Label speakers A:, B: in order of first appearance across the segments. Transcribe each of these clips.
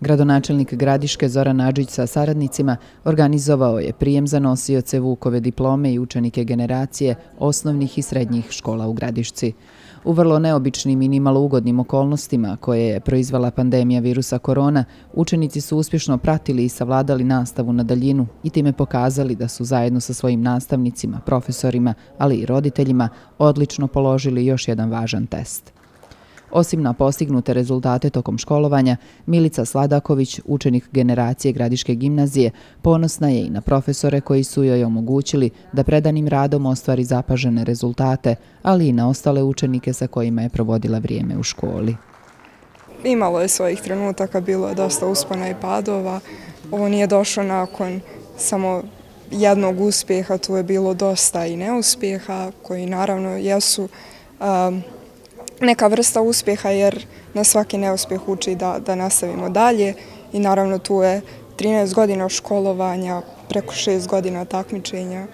A: Gradonačelnik Gradiške Zoran Adžić sa saradnicima organizovao je prijem za nosioce Vukove diplome i učenike generacije osnovnih i srednjih škola u Gradišci. U vrlo neobičnim i nimalo ugodnim okolnostima koje je proizvela pandemija virusa korona, učenici su uspješno pratili i savladali nastavu na daljinu i time pokazali da su zajedno sa svojim nastavnicima, profesorima, ali i roditeljima odlično položili još jedan važan test. Osim na postignute rezultate tokom školovanja, Milica Sladaković, učenik generacije Gradiške gimnazije, ponosna je i na profesore koji su joj omogućili da predanim radom ostvari zapažene rezultate, ali i na ostale učenike sa kojima je provodila vrijeme u školi.
B: Imalo je svojih trenutaka, bilo je dosta uspona i padova. Ovo nije došlo nakon samo jednog uspjeha, tu je bilo dosta i neuspjeha koji naravno jesu neka vrsta uspjeha jer na svaki neuspjeh uči da nastavimo dalje i naravno tu je 13 godina školovanja, preko 6 godina takmičenja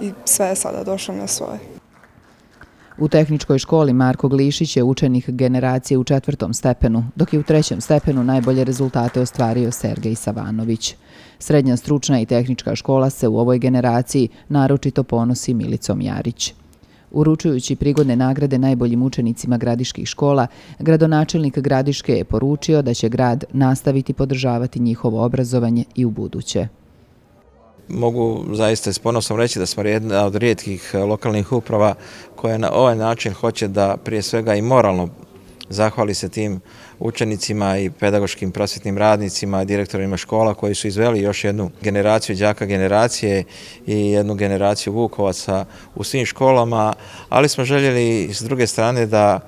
B: i sve je sada došlo na svoje.
A: U tehničkoj školi Marko Glišić je učenik generacije u 4. stepenu, dok je u 3. stepenu najbolje rezultate ostvario Sergej Savanović. Srednja stručna i tehnička škola se u ovoj generaciji naročito ponosi Milicom Jarić. Uručujući prigodne nagrade najboljim učenicima gradiških škola, gradonačelnik Gradiške je poručio da će grad nastaviti podržavati njihovo obrazovanje i u buduće.
C: Mogu zaista s ponosom reći da smo jedna od rijetkih lokalnih uprava koja na ovaj način hoće da prije svega i moralno zahvali se tim učenicima i pedagoškim prosvjetnim radnicima, direktorima škola koji su izveli još jednu generaciju đaka generacije i jednu generaciju Vukovaca u svim školama, ali smo željeli s druge strane da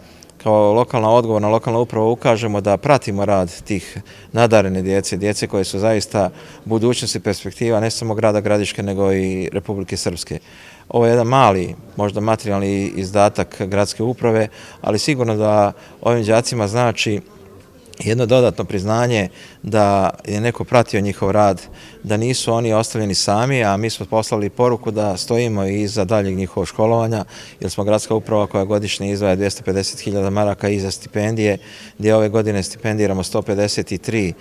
C: kao lokalna odgovorna lokalna uprava ukažemo da pratimo rad tih nadarene djece koje su zaista budućnost i perspektiva ne samo grada Gradiške nego i Republike Srpske. Ovo je jedan mali, možda materijalni izdatak gradske uprave, ali sigurno da ovim đacima znači jedno dodatno priznanje da je neko pratio njihov rad, da nisu oni ostavljeni sami, a mi smo poslali poruku da stojimo i iza daljeg njihovog školovanja, jer smo gradska uprava koja godišnje izdvaja 250.000 maraka i za stipendije, gdje ove godine stipendiramo 153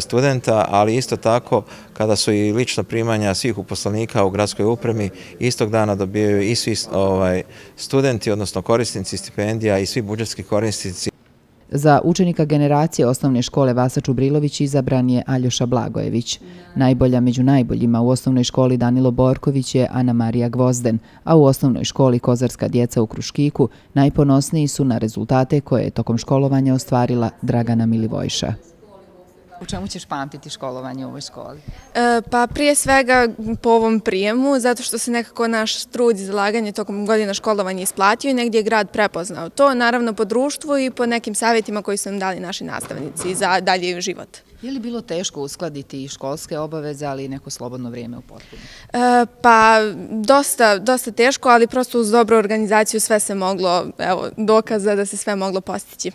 C: studenta, ali isto tako kada su i lična primanja svih uposlenika u gradskoj upravi, istog dana dobijaju i svi studenti, odnosno korisnici stipendija i svi budžetski korisnici.
A: Za učenika generacije osnovne škole Vasa Čubrilović izabran je Aljoša Blagojević. Najbolja među najboljima u osnovnoj školi Danilo Borković je Ana Marija Gvozden, a u osnovnoj školi Kozarska djeca u Kruškiku najponosniji su na rezultate koje je tokom školovanja ostvarila Dragana Milivojša.
D: U čemu ćeš pamtiti školovanje u ovoj školi?
E: Pa prije svega po ovom prijemu, zato što se nekako naš trud i zalaganje tokom godina školovanja isplatio i negdje je grad prepoznao to, naravno po društvu i po nekim savjetima koji su nam dali naši nastavnici za dalji život.
D: Je li bilo teško uskladiti i školske obaveze, ali i neko slobodno vrijeme u potpuno?
E: Pa dosta teško, ali prosto uz dobru organizaciju sve se moglo, evo, dokaza da se sve moglo postići.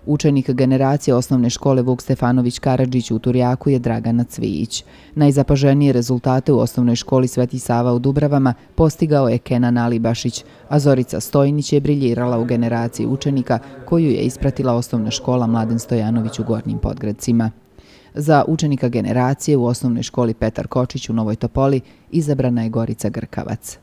A: Učenik generacije osnovne škole Vuk Stefanović Karadžić u Turjaku je Dragana Cvijić. Najzapaženije rezultate u osnovnoj školi Sveti Sava u Dubravama postigao je Kenan Alibašić, a Zorica Stojnić je briljirala u generaciji učenika koju je ispratila osnovna škola Mladen Stojanović u Gornjim Podgradcima. Za učenika generacije u osnovnoj školi Petar Kočić u Novoj Topoli izabrana je Gorica Grkavac.